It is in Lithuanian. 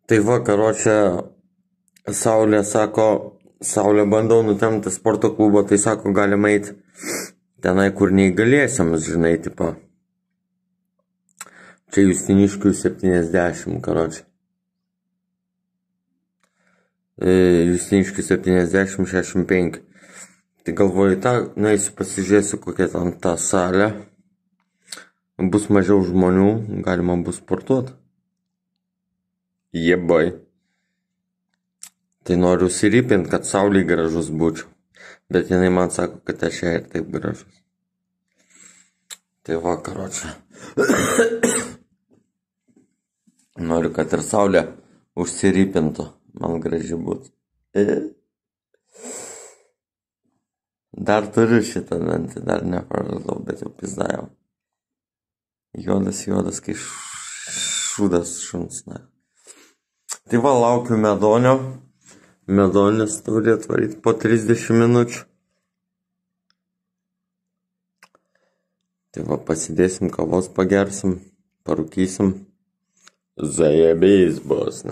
Tai va, karočią, Saulė bandau nutemti sporto klubo, tai sako, galima eiti tenai, kur neįgalėsiams, žinai, tipo. Čia Justiniškių 70, karočią. Justiniškių 70, 65. Tai galvoju, nueisiu pasižiūrėsiu, kokia ten ta salė. Bus mažiau žmonių, galima bus sportuoti. Jebai. Tai noriu užsiripinti, kad saulė gražus būčiau. Bet jinai man sako, kad aš ją ir taip gražus. Tai va, karočią. Noriu, kad ir saulė užsiripintų. Man graži būtų. Dar turiu šitą dantį, dar nepraradau, bet jau pizdajau. Juodas, kai šūdas šuns. Tai va, laukiu medonio. Medonis turi atvaryti po 30 minučių. Tai va, pasidėsim kavos, pagersim, parūkysim. Zajebys bus,